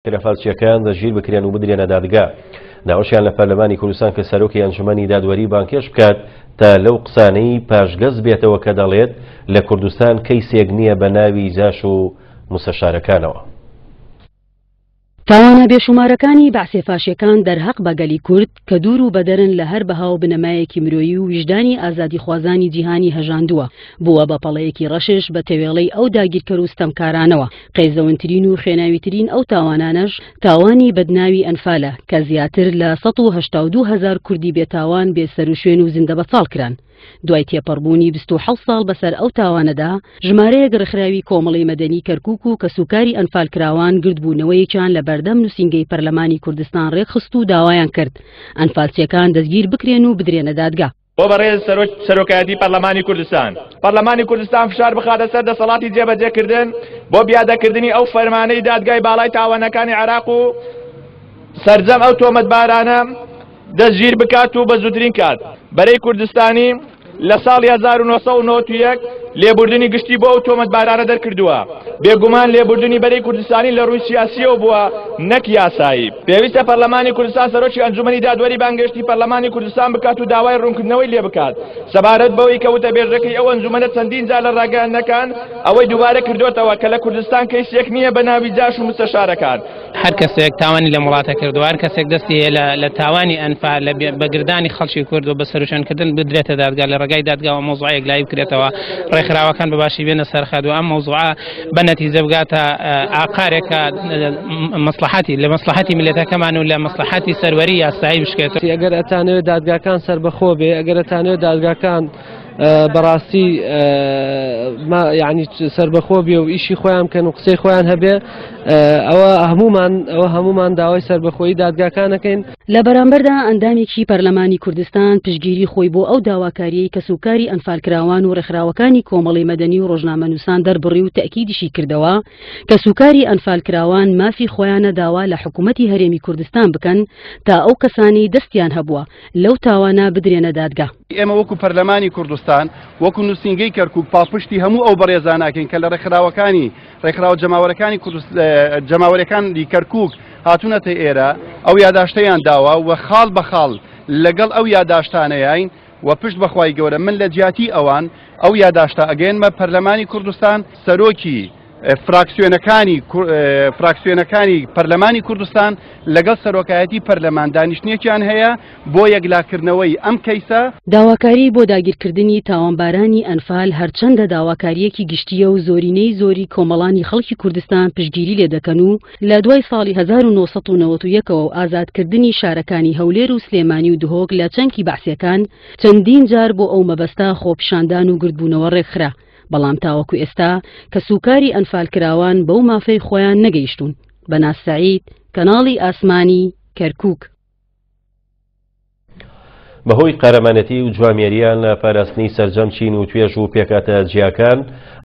ئەنفالچیەکان دەستگیر بکرێن و بدرێنە دادگا. داواشیان لە پەرلەمانی کوردستان کرد سەرۆکی ئەنجومەنی دادوەری بانگهێشت بکات تا لەو قسانەی پاشگەز بێتەوە کە دەڵێت لە کوردستان کەیسێک نییە بە ناوی جاش و موستەشارەکانەوە. تاوانە بێشومارەکانی بەعسێ فاشیەکان دەرهەق بە گەلی کورد کە دوور و بەدەرن لە هەر بەها و بنەمایەکی مرۆیی و ویژدانی ئازادیخوازانی جیهانی هەژاندووە، بووە بە پەڵەیەکی ڕەشش بە تەوێڵەی ئەو داگیرکەر و ستەمکارانەوە. قێزەونترین و خوێناویترین ئەو تاوانانەش تاوانی بەدناوی ئەنفالە کە زیاتر لە 182 هەزار کوردی بێتاوان بێ سەروشوێن و زیندەبەچاڵ کران. دوای تێپەڕبوونی 27 ساڵ بەسەر ئەو تاوانەدا، ژمارەیەک ڕێکخراوی کۆمەڵی مەدەنی کەرکوک و کەسوکاری ئەنفالکراوان گردبوونەوەیەکیان لە بەردەم نووسینگەی پەرلەمانی کوردستان ڕێکخست و داوایان کرد ئەنفالچیەکان دەستگیر بکرێن و بدرێنە دادگا. بۆ بەڕێز سەرۆک سەرۆکایەتی پەرلەمانی کوردستان پەرلەمانی کوردستان فشار بخاتە سەر دەسەڵاتی جێبەجێکردن بۆ پیادەکردنی ئەو فەرمانەی دادگای باڵای تاوانەکانی عێراق و سەرجەم ئەو تۆمەتبارانە دەستگیر بکات و بە زووترین کات بەرەی کوردستانی لە ساڵی 1991 لێبوردنی گشتی بۆ ئەو تۆمەتبارانە دەرکردووە. بێگومان لێبوردنی بەرەی کوردستانی لە ڕووی سیاسییەوە بووە نەک یاسایی. پێویستە پەرلەمانی کوردستان سەرۆکی ئەنجومەنی دادوەری بانگهێشتی پەرلەمانی کوردستان بکات و داوای ڕوونکردنەوەی لێ بکات سەبارەت بەوەی کە وتەبێژەکەی ئەو ئەنجومەنە چەندین جار لە ڕاگەیاندنەکان ئەوەی دووبارە کردۆتەوە کە لە کوردستان کەیسێک نییە بە ناوی جاش و مستەشارەکان. هەر کەسێک تاوانی لەم وڵاتە کردووە، هەر کەسێک دەستی هەیە لە تاوانی ئەنفال، لە بەگردانی خەڵکی کورد و بە سەروشوێنکردن بدرێتە دادگا، لە ڕێگای دادگاوە مەوزوعە یەکلایی بکرێتەوە، ڕێکخراوەکان بە باشی بێنە سەرخەت و ئەم مەوزوعە بە نەتیجە بگاتە ئاقارێک کە مەسڵەحەتی لە مەسڵەحەتی میللەتەکەمان و لە مەسڵەحەتی سەروەری یاسایی بشکێتەوە. ئەگەر ئەتانەوێت دادگاکان سەربەخۆ بێ، ئەگەر ئەتانەوێت دادگاکان بەڕاستی یعنی سربەخۆ بێ و ئیشی خۆیان بکەن و قسەی خۆیان هەبێ ئەوە هەمومان ئەوە هەمومان داوای سربەخۆیی دادگاکانەکەین. لە بەرامبەردا ئەندامێکی پەرلەمانی کوردستان پشتگیری خۆی بۆ ئەو داواکارییەی کەسوکاری ئەنفالکراوان و ڕێکخراوەکانی کۆمەڵی مەدەنی و ڕۆژنامەنووسان دەربڕی و تەئکیدیشی کردەوە کەسوکاری ئەنفالکراوان مافی خۆیانە داوا لە حکومەتی هەرێمی کوردستان بکەن تا ئەو کەسانەی دەستیان هەبووە لەو تاوانە بدرێنە دادگا. ئێمە وەکو پەرلەمانی کوردستان، وەکو نووسینگەی کەرکووک پاڵپشتی هەموو ئەو بەڕێزانە ئەکەین کە لە ڕێکخراوەکانی ڕێکخراوە جەماوەرەکانی جەماوەرەکانی کەرکووک هاتوونەتە ئێرە ئەو یاداشتەیان داوە و خاڵ بە خاڵ لەگەڵ ئەو یاداشتانەیان و پشت بەخوای گەورە من لە جیاتی ئەوان ئەو یاداشتە ئەگەیەنمە پەرلەمانی کوردستان سەرۆکی فراکسیۆنەکانی فراکسیۆنەکانی پەرلەمانی کوردستان لەگەڵ سەرۆکایەتی پەرلەمان دانیشتنێکیان هەیە بۆ یەکلاکردنەوەی ئەم کەیسە. داواکاری بۆ داگیرکردنی تاوانبارانی ئەنفال هەرچەندە داواکارییەکی گشتییە و زۆرینەی زۆری کۆمەڵانی خەڵکی کوردستان پشتگیری لێ دەکەن و لە دوای ساڵی 1991 ەوە و ئازادکردنی شارەکانی هەولێر و سلێمانی و دهۆک لە چەنکی بەعسیەکان چەندین جار بۆ ئەو مەبەستە خۆپیشاندان و گردبوونەوە ڕێکخرا بەڵام تاوەکو ئێستا کەسوکاری ئەنفالکراوان بەو مافەی خۆیان نەگەیشتوون. بەناز سەعید، کەناڵی ئاسمانی، کەرکوک. بەهۆی قارەمانێتی و جوامێریان لە پاراستنی سەرجەم چین و توێژ و پێکهاتە جیاکان.